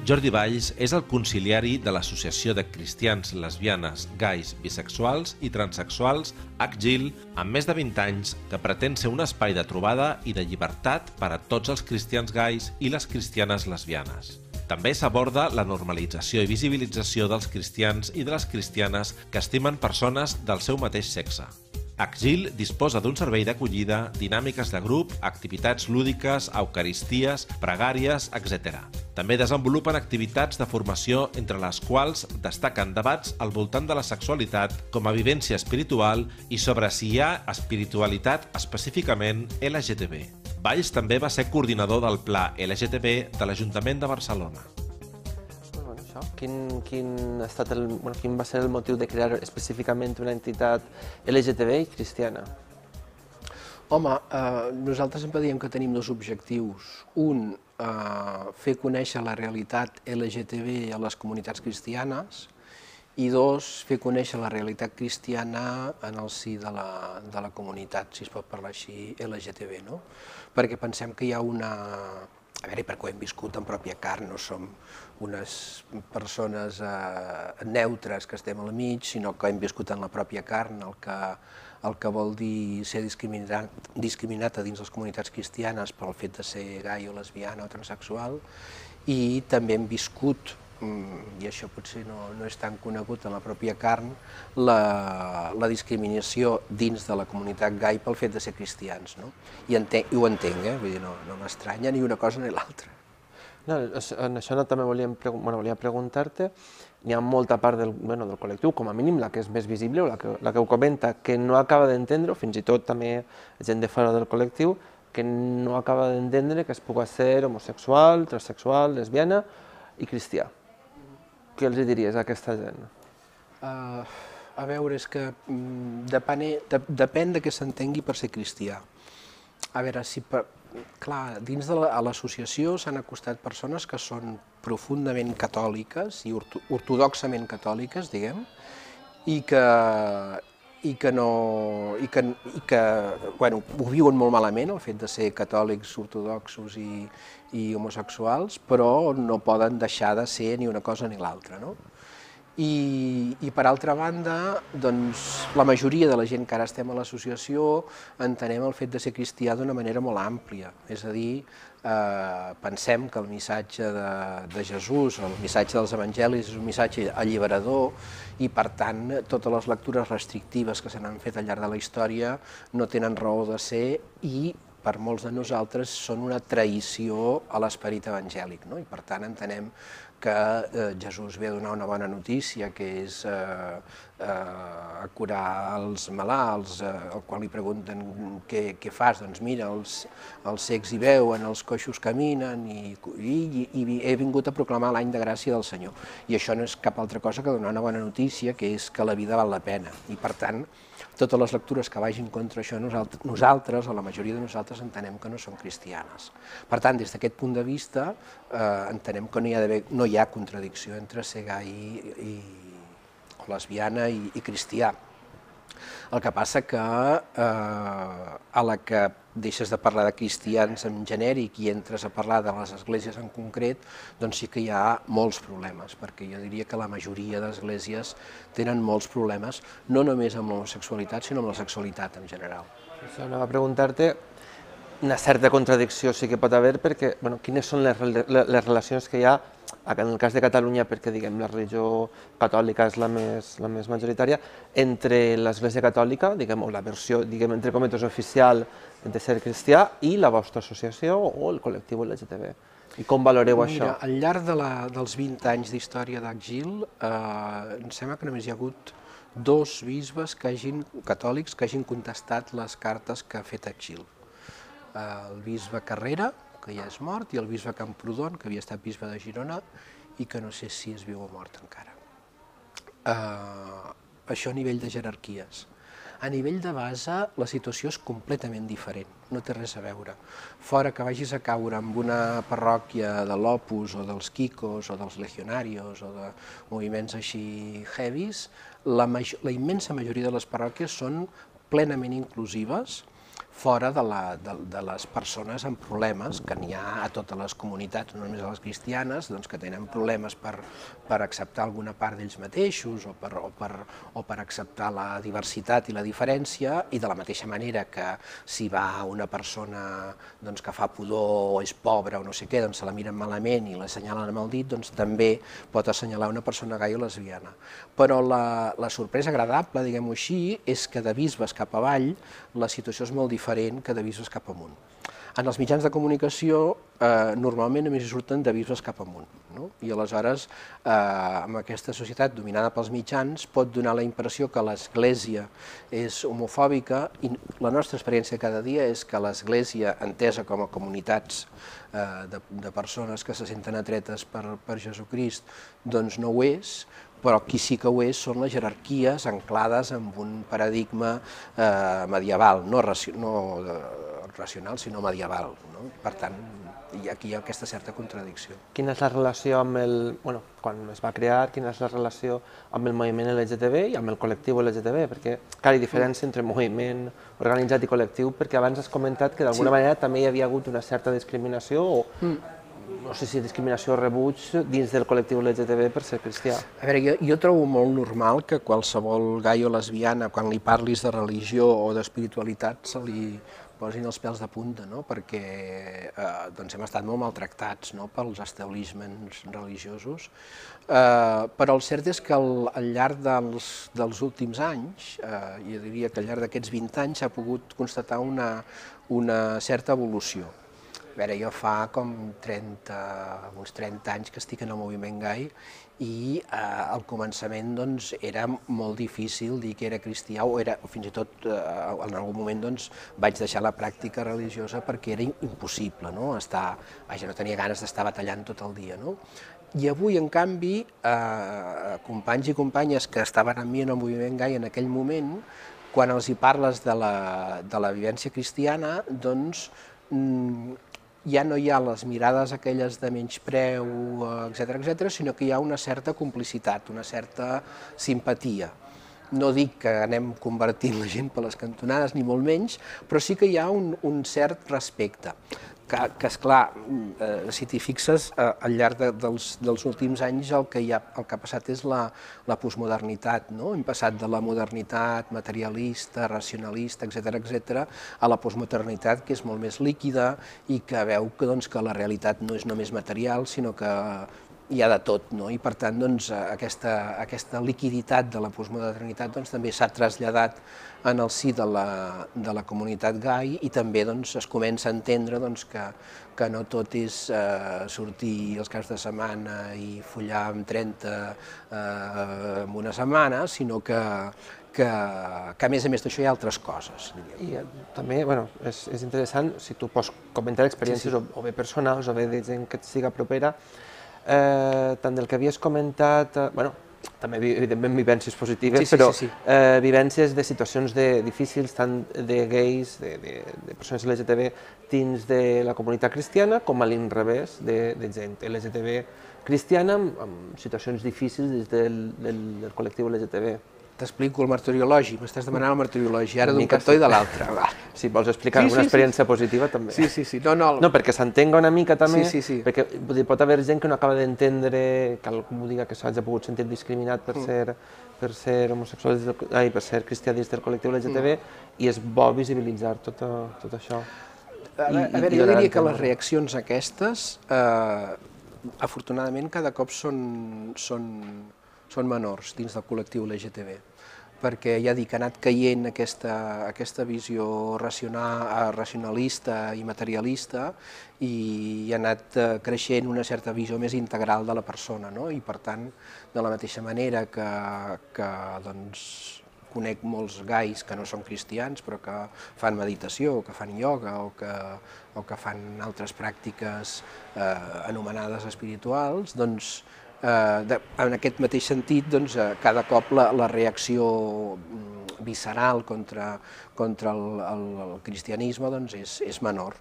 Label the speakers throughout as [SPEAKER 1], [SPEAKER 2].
[SPEAKER 1] Jordi Valls és el conciliari de l'Associació de Cristians, Lesbianes, Gais, Bisexuals i Transsexuals ACGIL, amb més de 20 anys, que pretén ser un espai de trobada i de llibertat per a tots els cristians gais i les cristianes lesbianes. També s'aborda la normalització i visibilització dels cristians i de les cristianes que estimen persones del seu mateix sexe. ACGIL disposa d'un servei d'acollida, dinàmiques de grup, activitats lúdiques, eucaristies, pregàries, etc. També desenvolupen activitats de formació entre les quals destaquen debats al voltant de la sexualitat com a vivència espiritual i sobre si hi ha espiritualitat específicament LGTB. Valls també va ser coordinador del Pla LGTB de l'Ajuntament de Barcelona.
[SPEAKER 2] Quin va ser el motiu de crear específicament una entitat LGTB i cristiana?
[SPEAKER 3] Home, nosaltres sempre diem que tenim dos objectius. Un, fer conèixer la realitat LGTB a les comunitats cristianes i dos, fer conèixer la realitat cristiana en el si de la comunitat, si es pot parlar així, LGTB, no? Perquè pensem que hi ha una... A veure, perquè ho hem viscut en pròpia carn, no som unes persones neutres que estem al mig, sinó que hem viscut en la pròpia carn el que vol dir ser discriminat a dins les comunitats cristianes pel fet de ser gai o lesbiana o transsexual, i també hem viscut, i això potser no és tan conegut en la pròpia carn, la discriminació dins de la comunitat gai pel fet de ser cristians. I ho entenc, vull dir, no m'estranya ni una cosa ni l'altra.
[SPEAKER 2] En això també volia preguntar-te, hi ha molta part del col·lectiu, com a mínim la que és més visible o la que ho comenta, que no acaba d'entendre, o fins i tot també gent de fora del col·lectiu, que no acaba d'entendre que es pugui ser homosexual, transsexual, lesbiana i cristià. Què els diries a aquesta gent?
[SPEAKER 3] A veure, és que depèn de què s'entengui per ser cristià. A veure, clar, dins de l'associació s'han acostat persones que són profundament catòliques i ortodoxament catòliques, diguem, i que ho viuen molt malament, el fet de ser catòlics, ortodoxos i homosexuals, però no poden deixar de ser ni una cosa ni l'altra. I per altra banda, la majoria de la gent que ara estem a l'associació entenem el fet de ser cristià d'una manera molt àmplia, és a dir, pensem que el missatge de Jesús, el missatge dels evangelis és un missatge alliberador i per tant totes les lectures restrictives que se n'han fet al llarg de la història no tenen raó de ser i per molts de nosaltres són una traïció a l'esperit evangèlic, i per tant entenem que Jesús ve a donar una bona notícia, que és a curar els malalts, al qual li pregunten què fas, doncs mira, els cecs hi veuen, els coixos caminen i he vingut a proclamar l'any de gràcia del Senyor. I això no és cap altra cosa que donar una bona notícia, que és que la vida val la pena. I per tant, totes les lectures que vagin contra això, nosaltres, o la majoria de nosaltres, entenem que no són cristianes. Per tant, des d'aquest punt de vista, entenem que no hi ha contradicció entre ser gai o lesbiana i cristià. El que passa que a la que deixes de parlar de cristians en genèric i entres a parlar de les esglésies en concret, doncs sí que hi ha molts problemes, perquè jo diria que la majoria d'esglésies tenen molts problemes, no només amb l'homosexualitat, sinó amb la sexualitat en general.
[SPEAKER 2] Això anava a preguntar-te, una certa contradicció sí que pot haver, perquè quines són les relacions que hi ha, en el cas de Catalunya, perquè la religió catòlica és la més majoritària, entre l'Església Catòlica, o la versió, entre cometes, oficial de ser cristià, i la vostra associació o el col·lectiu LGTB. I com valoreu això?
[SPEAKER 3] Mira, al llarg dels 20 anys d'història d'ACGIL, em sembla que només hi ha hagut 2 bisbes catòlics que hagin contestat les cartes que ha fet ACGIL. El bisbe Carrera, que ja és mort, i el bisbe Camprodon, que havia estat bisbe de Girona i que no sé si és viu o mort encara. Això a nivell de jerarquies. A nivell de base, la situació és completament diferent, no té res a veure. Fora que vagis a caure en una parròquia de l'Opus o dels Kikos o dels Legionarios o de moviments així heavies, la immensa majoria de les parròquies són plenament inclusives. fora de les persones amb problemes, que n'hi ha a totes les comunitats, no només a les cristianes, doncs, que tenen problemes per acceptar alguna part d'ells mateixos o per acceptar la diversitat i la diferència, i de la mateixa manera que si va una persona doncs, que fa pudor o és pobra o no sé què, doncs se la miren malament i l'assenyalen amb el dit, doncs també pot assenyalar una persona gai o lesbiana. Però la sorpresa agradable, diguem-ho així, és que de bisbes cap avall la situació és molt diferent que de bisbes cap amunt. En els mitjans de comunicació normalment només hi surten de bisbes cap amunt, no? I aleshores amb aquesta societat dominada pels mitjans pot donar la impressió que l'Església és homofòbica, i la nostra experiència cada dia és que l'Església, entesa com a comunitats de persones que se senten atretes per Jesucrist, doncs no ho és, però qui sí que ho és són les jerarquies anclades en un paradigma medieval, no racional, sinó medieval, no? Per tant, aquí hi ha aquesta certa contradicció.
[SPEAKER 2] Quina és la relació amb quan es va crear, quina és la relació amb el moviment LGTB i amb el col·lectiu LGTB? Perquè, clar, hi ha diferència entre moviment organitzat i col·lectiu, perquè abans has comentat que d'alguna manera també hi havia hagut una certa discriminació o no sé si discriminació o rebuig dins del col·lectiu LGTB per ser cristià.
[SPEAKER 3] A veure, jo trobo molt normal que qualsevol gai o lesbiana, quan li parlis de religió o d'espiritualitat, se li posin els pèls de punta, no? Perquè hem estat molt maltractats pels establiments religiosos, però el cert és que al llarg dels últims anys, jo diria que al llarg d'aquests 20 anys s'ha pogut constatar una certa evolució. A veure, jo fa com uns 30 anys que estic en el moviment gai i al començament era molt difícil dir que era cristià o fins i tot en algun moment vaig deixar la pràctica religiosa perquè era impossible, no tenia ganes d'estar batallant tot el dia. I avui, en canvi, companys i companyes que estaven amb mi en el moviment gai en aquell moment, quan els hi parles de la vivència cristiana, doncs ja no hi ha les mirades aquelles de menyspreu, etc., sinó que hi ha una certa complicitat, una certa simpatia. No dic que anem convertint la gent per les cantonades, ni molt menys, però sí que hi ha un cert respecte. Que esclar, si t'hi fixes, al llarg dels últims anys el que ha passat és la postmodernitat. Hem passat de la modernitat materialista, racionalista, etc., a la postmodernitat, que és molt més líquida i que veu que la realitat no és només material, sinó que hi ha de tot, i per tant aquesta liquiditat de la postmodernitat també s'ha traslladat en el si de la comunitat gai i també es comença a entendre que no tot és sortir els caps de setmana i follar amb 30 en una setmana, sinó que a més d'això hi ha altres coses.
[SPEAKER 2] I també és interessant, si tu pots comentar experiències o bé personals o bé de gent que et siga propera, tant del que havies comentat, també evidentment vivències positives, però vivències de situacions difícils, tant de gais, de persones LGTB dins de la comunitat cristiana, com a l'inrevés, de gent LGTB cristiana amb situacions difícils dins del col·lectiu LGTB.
[SPEAKER 3] T'explico el martiriologi, m'estàs demanant el martiriologi, ara d'un cantó i de l'altre.
[SPEAKER 2] Si vols explicar alguna experiència positiva, també.
[SPEAKER 3] Sí.
[SPEAKER 2] No, perquè s'entenga una mica també, perquè pot haver gent que no acaba d'entendre, que algú diga que s'hagi pogut sentir discriminat per ser homosexual, per ser cristià dins del col·lectiu LGTB, i és bo visibilitzar tot això.
[SPEAKER 3] A veure, jo diria que les reaccions aquestes, afortunadament, cada cop són menors dins del col·lectiu LGTB, perquè ja dic, ha anat caient aquesta visió racionalista i materialista i ha anat creixent una certa visió més integral de la persona, i per tant, de la mateixa manera que conec molts gais que no són cristians però que fan meditació, o que fan ioga o que fan altres pràctiques anomenades espirituals, doncs en aquest mateix sentit, cada cop la reacció visceral contra el cristianisme doncs és menor.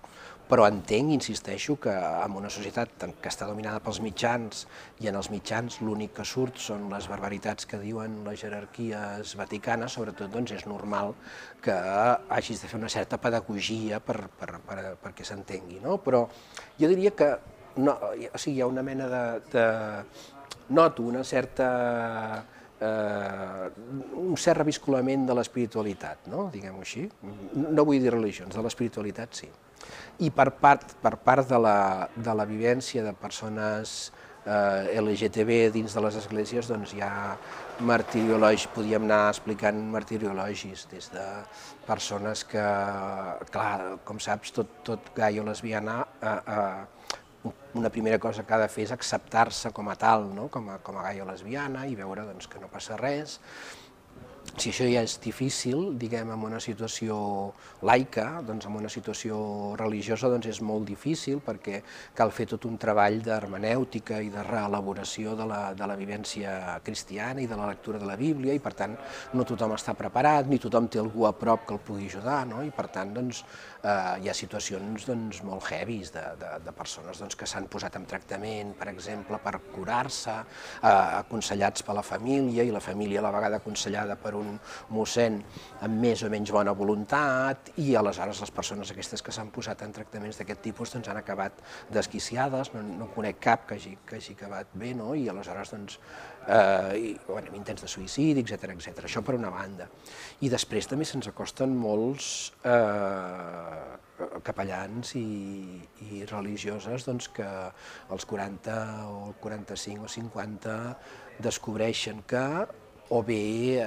[SPEAKER 3] Però entenc, insisteixo, que en una societat que està dominada pels mitjans i en els mitjans l'únic que surt són les barbaritats que diuen les jerarquies vaticanes, sobretot doncs és normal que hagis de fer una certa pedagogia perquè s'entengui, no? Però jo diria que hi ha una mena de... Noto una certa... un cert reviscolament de l'espiritualitat, no? Diguem-ho així. No vull dir religions, de l'espiritualitat sí. I per part de la vivència de persones LGTB dins de les esglésies, doncs hi ha martiriologis, podíem anar explicant martiriologis, des de persones que, clar, com saps, tot gai o lesbiana, una primera cosa que ha de fer és acceptar-se com a tal, no? com a gai o lesbiana, i veure doncs, que no passa res. Si això ja és difícil, diguem, en una situació laica, doncs en una situació religiosa doncs és molt difícil perquè cal fer tot un treball d'hermenèutica i de reelaboració de la vivència cristiana i de la lectura de la Bíblia, i per tant no tothom està preparat, ni tothom té algú a prop que el pugui ajudar, no? I per tant doncs, hi ha situacions doncs, molt heavies de persones doncs, que s'han posat en tractament, per exemple, per curar-se, aconsellats per la família, i la família a la vegada aconsellada per un mossèn amb més o menys bona voluntat, i aleshores les persones aquestes que s'han posat en tractaments d'aquest tipus doncs, han acabat desquiciades, no conec cap que hagi acabat bé, no? I aleshores doncs, intents de suïcidi, etc. Això per una banda. I després també se'ns acosten molts capellans i religioses doncs, que als 40 o 45 o 50 descobreixen que o bé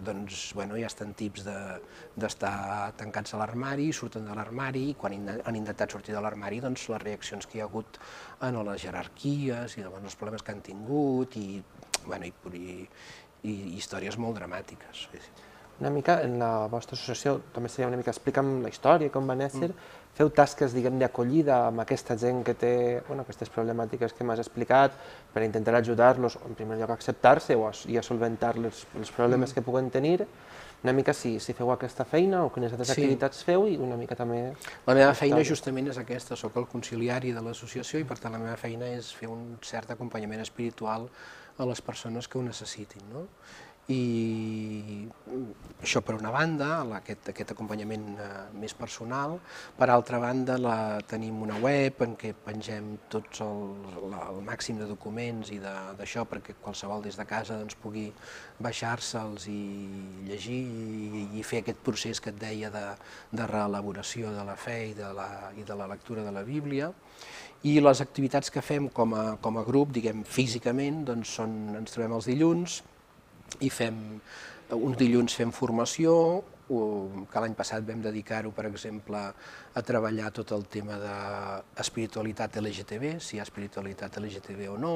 [SPEAKER 3] doncs, ja estan tips d'estar tancats a l'armari, surten de l'armari, i quan han intentat sortir de l'armari, doncs les reaccions que hi ha hagut en les jerarquies i els problemes que han tingut, i històries molt dramàtiques.
[SPEAKER 2] Una mica, en la vostra associació, també seria una mica, explica'm la història, com va néixer, feu tasques, diguem, d'acollida amb aquesta gent que té aquestes problemàtiques que m'has explicat, per intentar ajudar-los, en primer lloc, a acceptar-se i a solventar els problemes que puguen tenir. Una mica si feu aquesta feina o quines altres activitats feu, i una mica també...
[SPEAKER 3] La meva feina justament és aquesta, soc el conciliari de l'associació, i per tant la meva feina és fer un cert acompanyament espiritual a les persones que ho necessitin, no? I això per una banda, aquest acompanyament més personal. Per altra banda, tenim una web en què pengem tots el màxim de documents i d'això perquè qualsevol des de casa pugui baixar-se'ls i llegir i fer aquest procés que et deia de reelaboració de la fe i de la lectura de la Bíblia. I les activitats que fem com a grup, diguem, físicament, doncs ens trobem els dilluns, i uns dilluns fem formació, que l'any passat vam dedicar-ho, per exemple, a treballar tot el tema d'espiritualitat LGTB, si hi ha espiritualitat LGTB o no,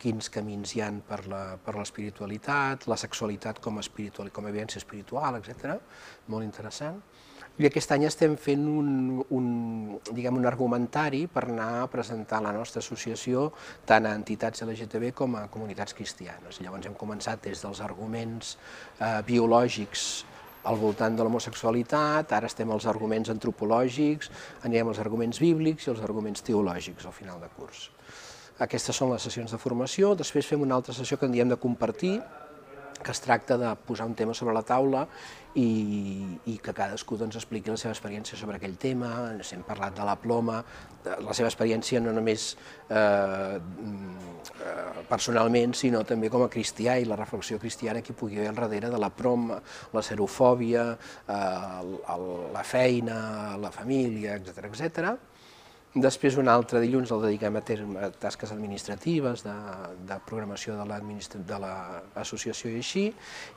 [SPEAKER 3] quins camins hi ha per l'espiritualitat, la sexualitat com a evidència espiritual, etc. Molt interessant. I aquest any estem fent un argumentari per anar a presentar la nostra associació tant a entitats LGTB com a comunitats cristianes. Llavors hem començat des dels arguments biològics al voltant de l'homosexualitat, ara estem als arguments antropològics, anirem als arguments bíblics i als arguments teològics al final de curs. Aquestes són les sessions de formació. Després fem una altra sessió que en diem de compartir, que es tracta de posar un tema sobre la taula i que cadascú expliqui la seva experiència sobre aquell tema. Hem parlat de la ploma, la seva experiència no només personalment, sinó també com a cristià, i la reflexió cristiana que hi pugui haver al darrere de la ploma, la serofòbia, la feina, la família, etc. Després un altre dilluns el dediquem a tasques administratives, de programació de l'associació i així,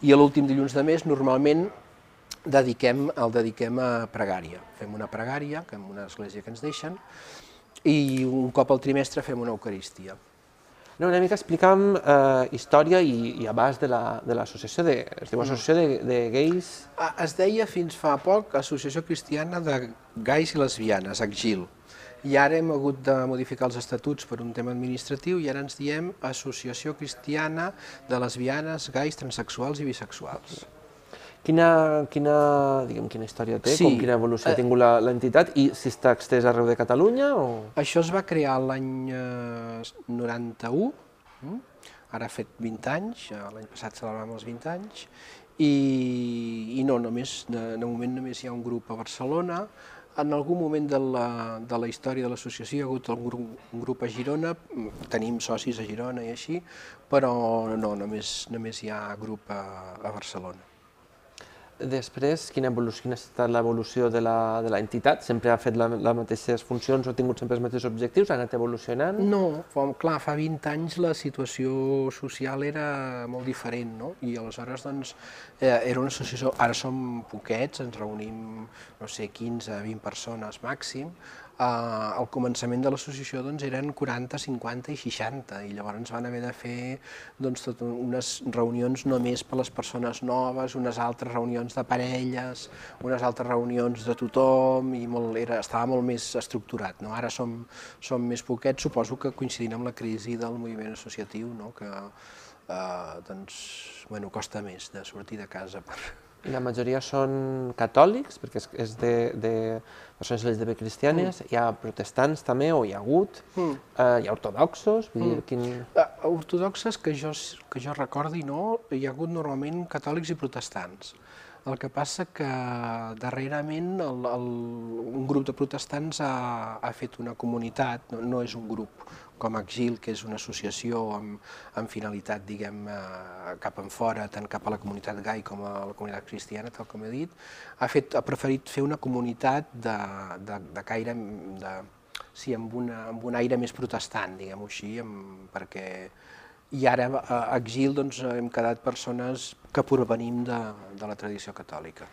[SPEAKER 3] i l'últim dilluns de mes normalment el dediquem a pregària. Fem una pregària, en una església que ens deixen, i un cop al trimestre fem una eucaristia.
[SPEAKER 2] Una mica explica'm història i abast de l'associació, es diu Associació de Gais...
[SPEAKER 3] Es deia fins fa poc Associació Cristiana de Gais i Lesbianes, ACGIL. I ara hem hagut de modificar els estatuts per un tema administratiu i ara ens diem Associació Cristiana de Lesbianes, Gais, Transsexuals i Bisexuals.
[SPEAKER 2] Quina història té,
[SPEAKER 3] Sí.
[SPEAKER 2] quina evolució ha tingut l'entitat i si està extès arreu de Catalunya o...
[SPEAKER 3] Això es va crear l'any 91, ara ha fet 20 anys, l'any passat celebràvem els 20 anys, i no, de moment només hi ha un grup a Barcelona. En algun moment de la història de l'associació hi ha hagut un grup a Girona, tenim socis a Girona i així, però no, només hi ha grup a Barcelona.
[SPEAKER 2] Després, quina ha estat l'evolució de l'entitat? Sempre ha fet les mateixes funcions o ha tingut sempre els mateixos objectius? Ha anat evolucionant?
[SPEAKER 3] No, clar, fa 20 anys la situació social era molt diferent, no? I aleshores, doncs, era una associació, ara som poquets, ens reunim, no sé, 15, 20 persones màxim. Al començament de l'associació doncs, eren 40, 50 i 60, i llavors van haver de fer doncs, tot unes reunions només per a les persones noves, unes altres reunions de parelles, unes altres reunions de tothom, i estava molt més estructurat. No? Ara som més poquets, suposo que coincidint amb la crisi del moviment associatiu, no? Que doncs, bueno, costa més de sortir de casa.
[SPEAKER 2] La majoria són catòlics, perquè és de persones LGTB cristianes, hi ha protestants també, o hi ha hagut, hi ha ortodoxos, vull dir,
[SPEAKER 3] ortodoxes que jo recordi no, hi ha hagut normalment catòlics i protestants. El que passa que darrerament un grup de protestants ha fet una comunitat, no és un grup com ACGIL, que és una associació amb finalitat, diguem, cap enfora, tant cap a la comunitat gai com a la comunitat cristiana, tal com he dit, ha preferit fer una comunitat de caire, sí, amb un aire més protestant, diguem-ho així, perquè... I ara a ACGIL doncs, hem quedat persones que provenim de la tradició catòlica.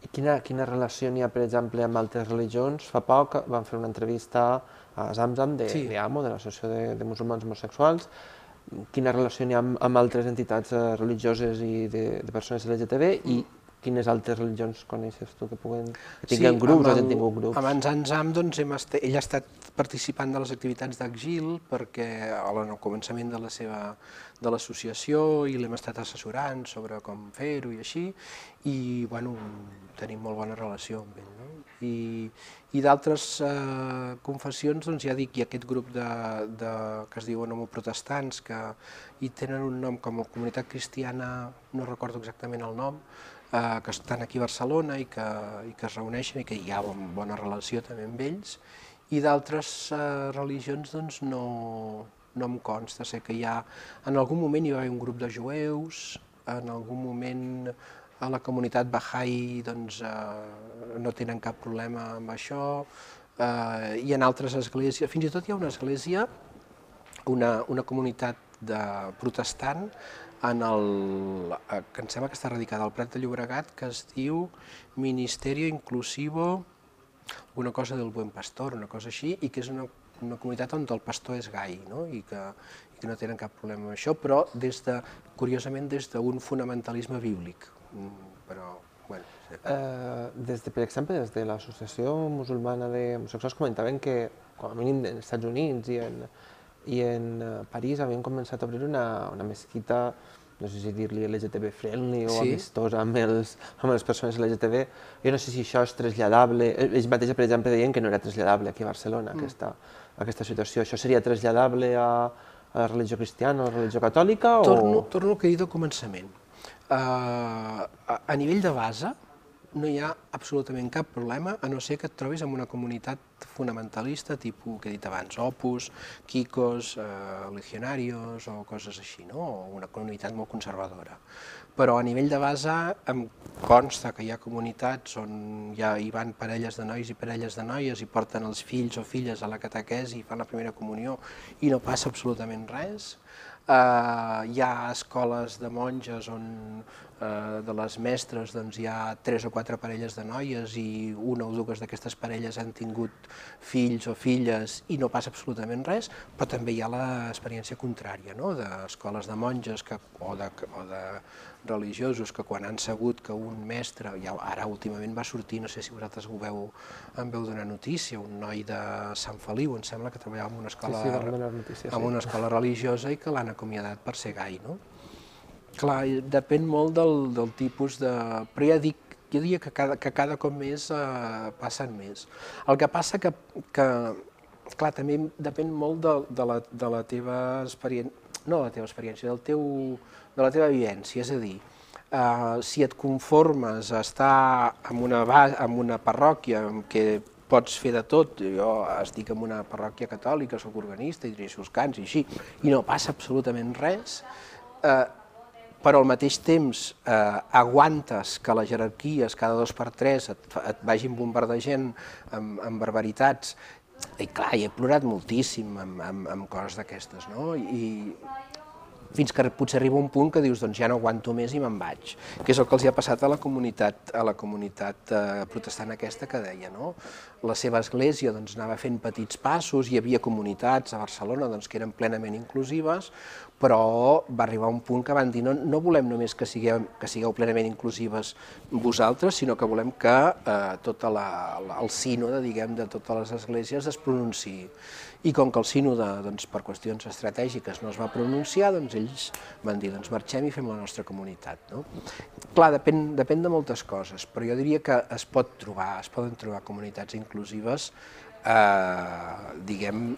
[SPEAKER 2] I quina relació n'hi ha, per exemple, amb altres religions? Fa poc vam fer una entrevista a Zamzam d'AMO, de l'Associació de Musulmans Homosexuals. Quina relació n'hi ha amb altres entitats religioses i de persones LGTB i quines altres religions coneixes tu que tinguin grups o hagin tingut grups?
[SPEAKER 3] Amb en Zamzam, doncs, ell ha estat participant de les activitats d'ACGIL perquè al començament de l'associació i l'hem estat assessorant sobre com fer-ho i així, i bueno, tenim molt bona relació amb ell. No? I d'altres confessions, doncs ja dic, hi ha aquest grup que es diuen homoprotestants, que hi tenen un nom com a comunitat cristiana, no recordo exactament el nom, que estan aquí a Barcelona i que es reuneixen i que hi ha bona relació també amb ells, i d'altres religions doncs no em consta. Sé que en algun moment hi va haver un grup de jueus, en algun moment a la comunitat Bahá'í doncs, no tenen cap problema amb això, i en altres esglésies, fins i tot hi ha una església, una comunitat protestant, que em sembla que està radicada al Prat de Llobregat, que es diu Ministerio Inclusivo, una cosa del Buen Pastor, una cosa així, i que és una comunitat on el pastor és gai, no? I que no tenen cap problema amb això, però curiosament des d'un fonamentalisme bíblic. Però, bueno...
[SPEAKER 2] Per exemple, des de l'Associació Musulmana d'Homosexuals comentaven que, com a mínim als Estats Units i en París, havien començat a obrir una mesquita, no sé si dir-li LGTB friendly o amistosa amb les persones LGTB. Jo no sé si això és traslladable. Ells mateixos, per exemple, deien que no era traslladable aquí a Barcelona, aquesta situació. Això seria traslladable a la religió cristiana o a la religió catòlica?
[SPEAKER 3] Torno al que he dit al començament. A nivell de base, no hi ha absolutament cap problema, a no ser que et trobis en una comunitat fonamentalista, tipus, que he dit abans, Opus, Kikos, Legionarios o coses així, no? O una comunitat molt conservadora. Però a nivell de base em consta que hi ha comunitats on hi van parelles de nois i parelles de noies i porten els fills o filles a la catequesi i fan la primera comunió i no passa absolutament res. Hi ha escoles de monges on de les mestres hi ha 3 o 4 parelles de noies i una o dues d'aquestes parelles han tingut fills o filles i no passa absolutament res, però també hi ha l'experiència contrària, d'escoles de monges o de religiosos que quan han sabut que un mestre, ara últimament va sortir, no sé si vosaltres en veu donar notícia, un noi de Sant Feliu, em sembla que treballava en una escola religiosa i que l'han acomiadat per ser gai, no? Clar, depèn molt del tipus de... Però ja dic, jo diria que cada cop més passen més. El que passa que clar, també depèn molt de la teva experiència, no de la teva experiència, de la teva vivència, és a dir, si et conformes a estar en una parròquia en què pots fer de tot, jo estic en una parròquia catòlica, soc organista i dirigeixo els cants i així, i no passa absolutament res, però al mateix temps aguantes que les jerarquies cada 2 per 3 et vagin bombardejant amb barbaritats. I clar, he plorat moltíssim amb coses d'aquestes, no? I fins que potser arriba un punt que dius, doncs ja no aguanto més i me'n vaig, que és el que els ha passat a la comunitat protestant aquesta que deia, no? La seva església doncs, anava fent petits passos, hi havia comunitats a Barcelona doncs, que eren plenament inclusives, però va arribar un punt que van dir no volem només que sigueu plenament inclusives vosaltres, sinó que volem que tot el sínode, diguem, de totes les esglésies es pronunciï. I com que el sínode, doncs, per qüestions estratègiques no es va pronunciar, doncs ells van dir, doncs marxem i fem la nostra comunitat. No? Clar, depèn de moltes coses, però jo diria que es poden trobar comunitats inclusives, diguem,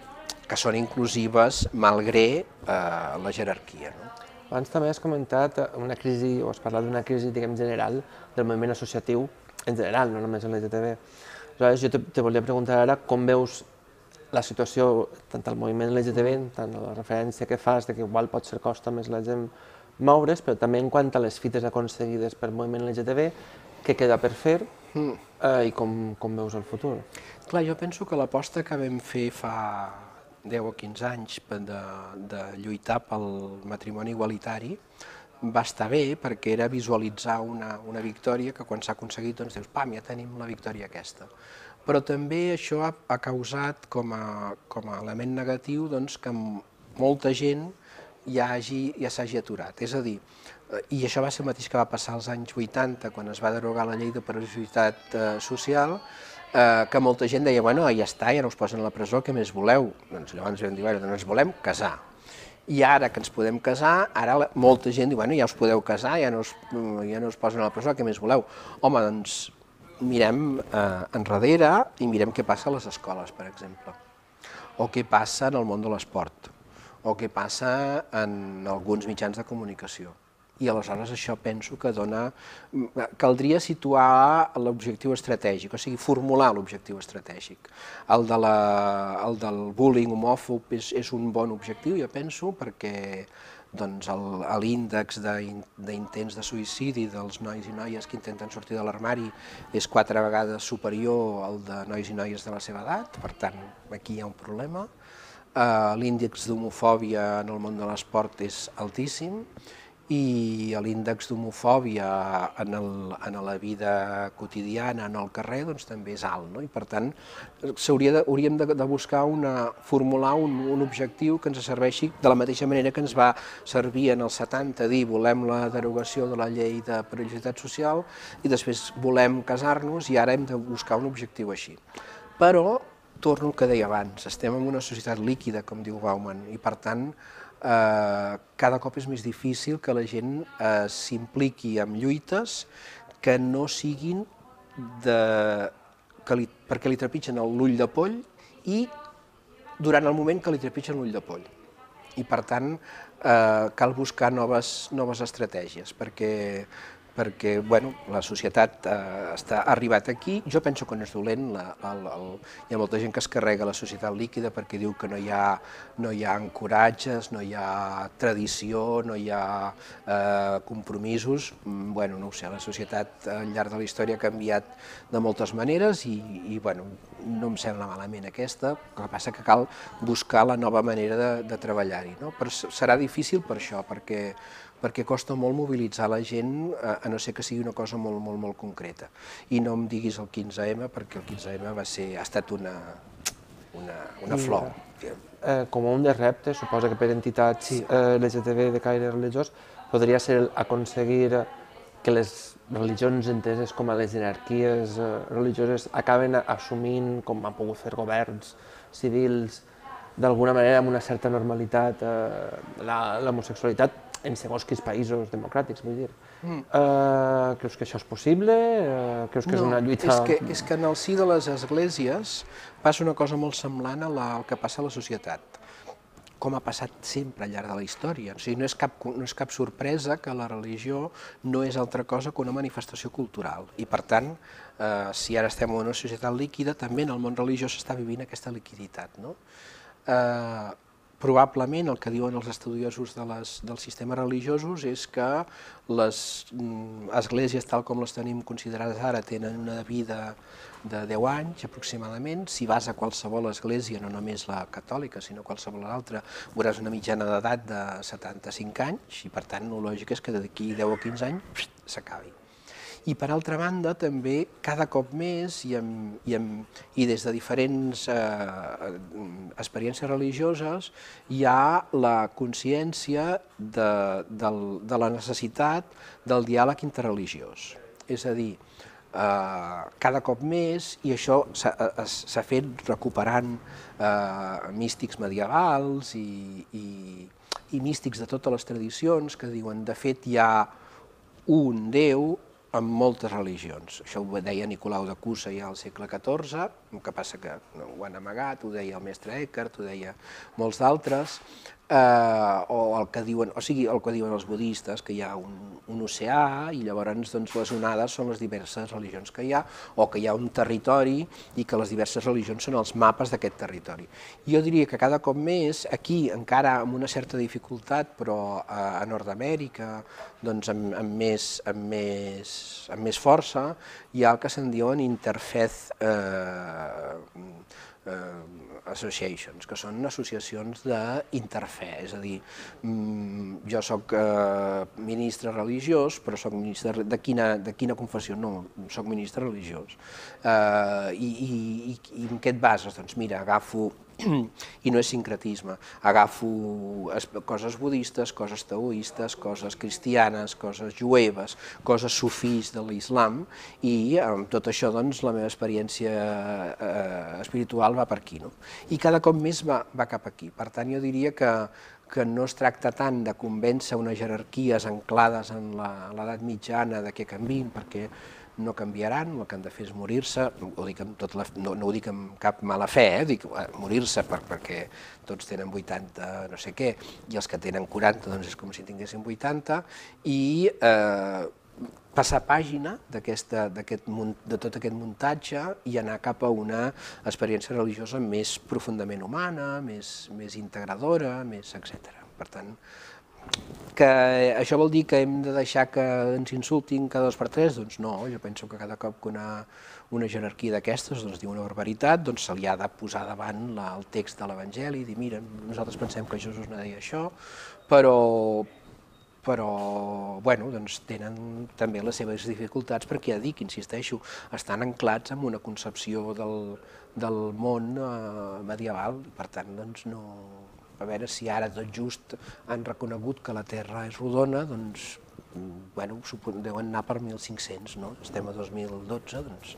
[SPEAKER 3] que són inclusives malgrat la jerarquia. No?
[SPEAKER 2] Abans també has comentat una crisi, o has parlat d'una crisi, diguem, general del moviment associatiu, en general, no només en l'LGTB. Aleshores, jo te volia preguntar ara com veus la situació, tant al moviment LGTB, tant a la referència que fas de que igual potser costa més la gent moure's, però també en quant a les fites aconseguides pel moviment LGTB, què queda per fer i com veus el futur?
[SPEAKER 3] Clar, jo penso que l'aposta que vam fer fa 10 o 15 anys de lluitar pel matrimoni igualitari va estar bé perquè era visualitzar una victòria que quan s'ha aconseguit doncs dius, pam, ja tenim la victòria aquesta. Però també això ha causat com a element negatiu doncs, que molta gent ja s'hagi aturat. És a dir, i això va ser el mateix que va passar als anys 80, quan es va derogar la llei de perillositat social, que molta gent deia, bueno, ja està, ja no us posen a la presó, què més voleu? Doncs llavors vam dir, bueno, doncs ens volem casar. I ara que ens podem casar, ara molta gent diu, bueno, ja us podeu casar, ja no us posen a la presó, què més voleu? Home, doncs mirem enrere i mirem què passa a les escoles, per exemple, o què passa en el món de l'esport, o què passa en alguns mitjans de comunicació. I aleshores això penso que caldria situar l'objectiu estratègic, o sigui, formular l'objectiu estratègic. El del bullying homòfob és un bon objectiu, jo penso, perquè l'índex d'intents de suïcidi dels nois i noies que intenten sortir de l'armari és 4 vegades superior al de nois i noies de la seva edat, per tant, aquí hi ha un problema. L'índex d'homofòbia en el món de l'esport és altíssim, i l'índex d'homofòbia en la vida quotidiana, en el carrer, doncs també és alt, no? I per tant, hauríem de buscar formular un objectiu que ens serveixi de la mateixa manera que ens va servir en els 70 dir volem la derogació de la llei de perillositat social i després volem casar-nos i ara hem de buscar un objectiu així. Però, torno al que deia abans, estem en una societat líquida, com diu Bauman, i per tant, cada cop és més difícil que la gent s'impliqui en lluites que no siguin perquè li trepitgen l'ull de poll i durant el moment que li trepitgen l'ull de poll. I per tant cal buscar noves estratègies perquè la societat ha arribat aquí. Jo penso que no és dolent, hi ha molta gent que es carrega la societat líquida perquè diu que no hi ha ancoratges, no hi ha tradició, no hi ha compromisos. Bueno, no ho sé, la societat al llarg de la història ha canviat de moltes maneres i no em sembla malament aquesta, el que passa que cal buscar la nova manera de treballar-hi. Però serà difícil per això, perquè costa molt mobilitzar la gent, a no ser que sigui una cosa molt, molt, molt concreta. I no em diguis el 15M, perquè el 15M ha estat una flor.
[SPEAKER 2] Com un dels reptes, suposa que per entitats LGTB de caire religiós, podria ser aconseguir que les religions enteses com a les jerarquies religioses acaben assumint, com han pogut fer governs civils, d'alguna manera amb una certa normalitat l'homosexualitat, en segons quins països democràtics, vull dir. Creus que això és possible? Creus que és una lluita...
[SPEAKER 3] És que en el si de les esglésies passa una cosa molt semblant al que passa a la societat, com ha passat sempre al llarg de la història. O sigui, no és cap sorpresa que la religió no és altra cosa que una manifestació cultural. I, per tant, si ara estem en una societat líquida, també en el món religiós s'està vivint aquesta liquiditat, no? Probablement el que diuen els estudiosos dels sistemes religiosos és que les esglésies, tal com les tenim considerades ara, tenen una vida de 10 anys aproximadament. Si vas a qualsevol església, no només la catòlica, sinó qualsevol altra, veuràs una mitjana d'edat de 75 anys i, per tant, el lògic és que d'aquí 10 o 15 anys s'acabi. I, per altra banda, també cada cop més, i des de diferents experiències religioses, hi ha la consciència de la necessitat del diàleg interreligiós. És a dir, cada cop més, i això s'ha fet recuperant místics medievals i místics de totes les tradicions que diuen, de fet, hi ha un Déu en moltes religions. Això ho deia Nicolau de Cusa ja al segle XIV, el que passa que ho han amagat, ho deia el mestre Eckhart, ho deia molts d'altres, o el que diuen els budistes, que hi ha un oceà i llavors les onades són les diverses religions que hi ha, o que hi ha un territori i que les diverses religions són els mapes d'aquest territori. Jo diria que cada cop més, aquí encara amb una certa dificultat, però a Nord-Amèrica, amb més força, hi ha el que se'n diuen interfaith associations, que són associacions d'interfè, és a dir, jo soc ministre religiós, però soc ministre de quina confessió? No, soc ministre religiós. I en què et bases? Doncs mira, agafo, i no és sincretisme, agafo coses budistes, coses taoistes, coses cristianes, coses jueves, coses sufís de l'islam, i amb tot això doncs la meva experiència espiritual va per aquí, no? I cada cop més va cap aquí. Per tant, jo diria que no es tracta tant de convèncer unes jerarquies anclades en l'edat mitjana de que canviïn, perquè no canviaran, el que han de fer és morir-se, no ho dic amb cap mala fe, dic morir-se perquè tots tenen 80 no sé què, i els que tenen 40 doncs és com si tinguessin 80, i passar pàgina de tot aquest muntatge i anar cap a una experiència religiosa més profundament humana, més integradora, etc. Per tant, que això vol dir que hem de deixar que ens insultin cada 2 per 3? Doncs no, jo penso que cada cop que una jerarquia d'aquestes diu una barbaritat, se li ha de posar davant el text de l'Evangeli i dir, mira, nosaltres pensem que Jesús no deia això, però tenen també les seves dificultats perquè, ja dic, insisteixo, estan anclats en una concepció del món medieval, i per tant, no... A veure si ara tot just han reconegut que la Terra és rodona, doncs, deuen anar per 1500, no? Estem a 2012, doncs...